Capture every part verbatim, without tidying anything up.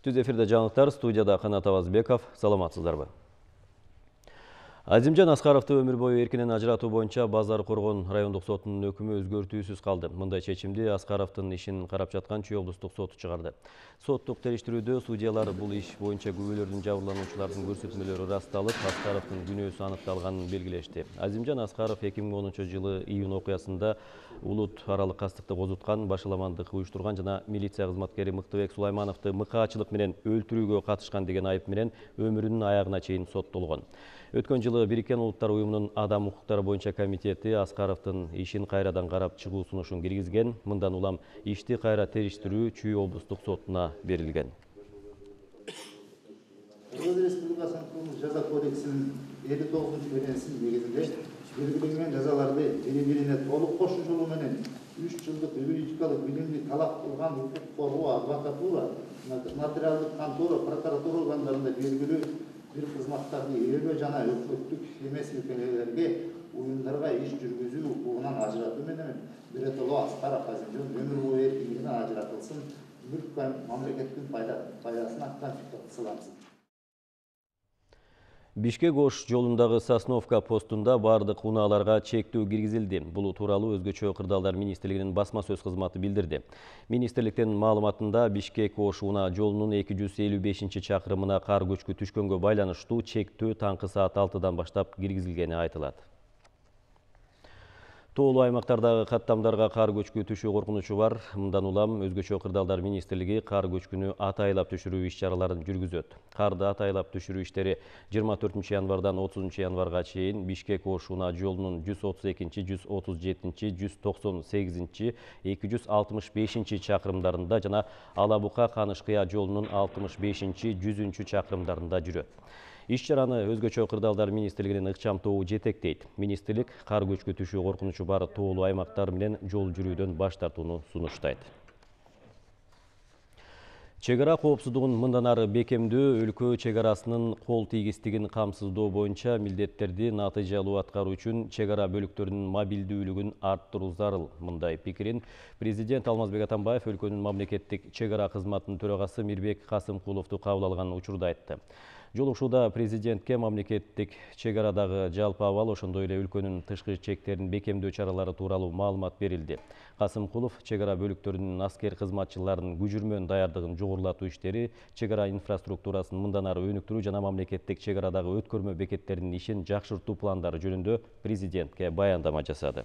Түз эфирде жаңылыктар, студияда Канат Абазбеков. Саламатсыздарбы? Азимжан Аскаровду өмүр бою эркинен ажыратуу боюнча Базар Коргон райондук сотунун өкүмү өзгөртүүсүз калды. Мындай чечимди Аскаровдун ишин карап жаткан Чүй облустук соту чыгарды. Соттук териштирүүдө судьялар бул иш боюнча күбөлөрдүн жабырлануучулардын көрсөтмөлөрү ырасталып, Аскаровдун күнөөсү аныкталганын белгилешти. Азимжан Аскаров эки миң онунчу жылы июнь окуясында улут аралык кастыкты козуткан, башаламандык уюштурган жана милиция кызматкери Мыктыбек Сулаймановду мыкаачылык менен өлтүрүүгө катышкан деген айып менен өмүрүнүн аягына чейин соттолгон. Өткөн жылы Бириккен Улуттар уюмунун адам укуктары боюнча комитети Аскаровдун ишин кайрадан карап чыгуу сунушун киргизген. Мындан улам ишти кайра териштирүү Чүй облустук сотуна берилген. Кыргыз Республикасынын жаза кодексинин элүү тогузунчу беренесинин негизинде белгиленген жазаларды бири-бирине толук кошуу жолу менен үч жылдык юридикалык билимди талап кылган укук коргоо адвокатура, нотариалдык контора, прокуратура органдарында белгилүү бир кызматтарды ээлөө жана өкмөттүк эмес мекемелерге, уюмдарга иш жүргүзүү укугунан ажыратуу менен Биретоло Аскаров Азимжан өмүр бою эркиндигинен ажыратылсын, мүлк мамлекеттин пайдасына конфискациялансын. Бишкек Ош жолундагы Сосновка постунда бардык унааларга чектөө киргизилди. Бул тууралуу Өзгөчө кырдаалдар министрлигинин басма сөз кызматы билдирди. Министрликтин маалыматында Бишкек Ош унаа жолунун эки жүз элүү бешинчи чакырымына кар көчкү түшкөнгө байланыштуу чектөө таңкы саат алтыдан баштап киргизилгени айтылат. Тоолуу аймактардагы каттамдарга кар көчкү түшүү коркунучу бар. Мындан улам Өзгөчө кырдаалдар министрлиги кар көчкүнү атайлап түшүрүү иш-чараларын жүргүзөт. Карды атайлап түшүрүү иштери жыйырма төртүнчү январдан отузунчу январга чейин Бишкек Ош унаа жолунун жүз отуз экинчи, жүз отуз жетинчи, жүз токсон сегизинчи, эки жүз алтымыш бешинчи чакырымдарында жана Алабука Каныш-Кыя жолунун алтымыш бешинчи, жүзүнчү чакырымдарында жүрөт. Иш-чараны Өзгөчө кырдаалдар министрлигинин ыкчам тобу жетектейт. Министрлик кар көчкү түшүү коркунучу бар тоолуу аймактар менен жол жүрүүдөн баш тартууну сунуштайт. Чек ара коопсуздугун мындан ары бекемдөө, өлкө чек арасынын кол тийгиздигин камсыздоо боюнча милдеттерди натыйжалуу аткаруу үчүн чек ара бөлүктөрүнүн мобилдүүлүгүн арттыруу зарыл. Мындай пикирин президент Алмазбек Атамбаев өлкөнүн мамлекеттик чек ара кызматынын төрагасы Мирбек Касымкуловду кабыл алган учурда айтты. Жолугушууда президентке мамлекеттик чек арадагы жалпы абал, ошондой эле өлкөнүн тышкы чектерин бекемдөө чаралары тууралуу маалымат берилди. Касымкулов чек ара бөлүктөрүнүн аскер кызматчыларынын күжүрмөн даярдыгын жогорулатуу иштери, чек ара инфраструктурасын мындан ары өнүктүрүү жана мамлекеттик чек арадагы өткөрмө бекеттеринин ишин жакшыртуу пландары жөнүндө президентке баяндама жасады.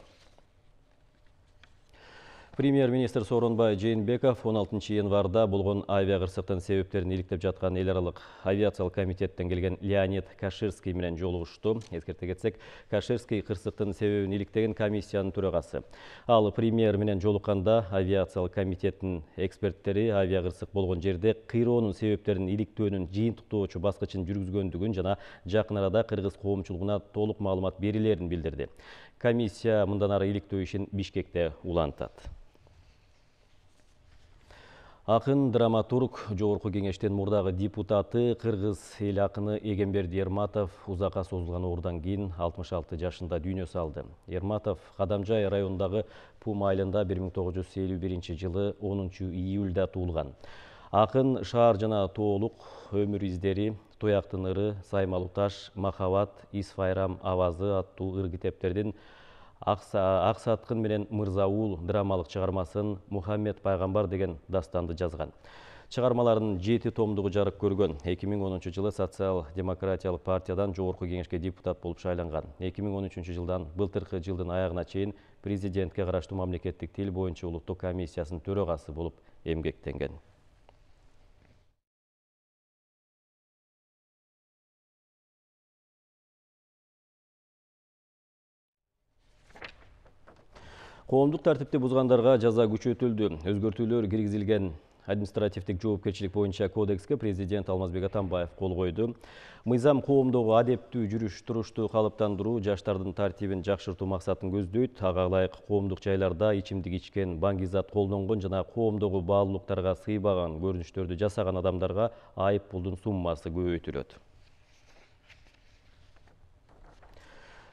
Премьер-министр Сооронбай Жээнбеков он алтынчы январда болгон авиакырсыктын себептерин иликтеп жаткан эл аралык авиациялык комитеттен келген Леонид Каширский менен жолугушту. Эскерте кетсек, Каширский кырсыктын себебин иликтеген комиссиянын төрагасы. Ал премьер менен жолукканда авиациялык комитеттин эксперттери авиакырсык болгон жерде кыйроонун себептерин иликтөөнүн жыйынтыктоочу баскычын жүргүзгөндүгүн жана жакын арада кыргыз коомчулугуна толук маалымат берилерин билдирди. Комиссия мындан ары иликтөө ишин Бишкекте улантат. Акын драматург, Жогорку кеңештин мурдагы депутаты, кыргыз эл акыны Эгемберди Эрматов узакка созулган оорудан кийин алтымыш алты жашында дүйнө салды. Эрматов Кадамжай районундагы Пум айылында бир миң тогуз жүз элүү биринчи жылы онунчу июлда туулган. Акын шаар жана тоолук өмүр издери, Тояктын ыры, Саймалуу таш, Махабат, Ис Файрам авазы аттуу ыр китептердин Аксаткын менен Мырзаул драмалык чыгармасын, Мухаммед пайгамбар деген дастанды жазган. Чыгармаларынын жети томдугу жарык көргөн. эки миң онунчу жылы социал-демократиялык партиядан Жогорку кеңешке депутат болуп шайланган. эки миң он үчүнчү жылдан былтыркы жылдын аягына чейин президентке караштуу мамлекеттик тил боюнча улуттук комиссиясынын төрагасы болуп эмгектенген. Коомдук тартипти бузгандарга жаза күчөтүлдү. Өзгөртүүлөр киргизилген административдик жоопкерчилик боюнча кодекске президент Алмазбек Атамбаев кол койду. Мыйзам коомдогу адептүү жүрүш-турушту калыптандыруу, жаштардын тартибин жакшыртуу максатын көздөйт. Ага ылайык коомдук жайларда ичимдик ичкен, баңгизат колдонгон жана коомдогу баалуулуктарга сыйбаган көрүнүштөрдү жасаган адамдарга айып пулдун суммасы көбөйтүлөт.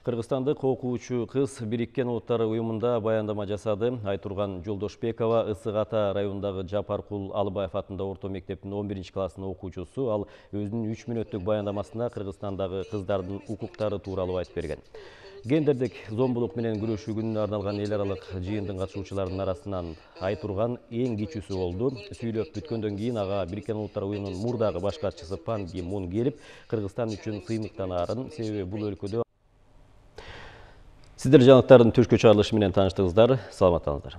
Кыргызстандык окуучу кыз Бириккен Улуттар уюмунда баяндама жасады. Айтурган Жолдошбекова Ысык Ата районундагы Жапаркул Алыбаев атындагы орто мектептин он биринчи класснын окуучусу. Ал өзүнүн үч мүнөттүк баяндамасында Кыргызстандагы кыздардын укуктары тууралуу айтып берген. Гендердик зомбулук менен күрөшүү күнүнө арналган эл аралык жыйындын катышуучуларынын арасынан Айтурган эң кичүүсү болду. Сүйлөп бүткөндөн кийин ага Бириккен Улуттар уюмунун мурдагы баш катчысы Пан Ги Мун келип, Кыргызстан үчүн сыймыктанаарын, себеби бул өлкөдө. Сиздер жаңылыктардын түшкү чыгарылышы менен тааныштыңыздар. Саламаттаңыздар.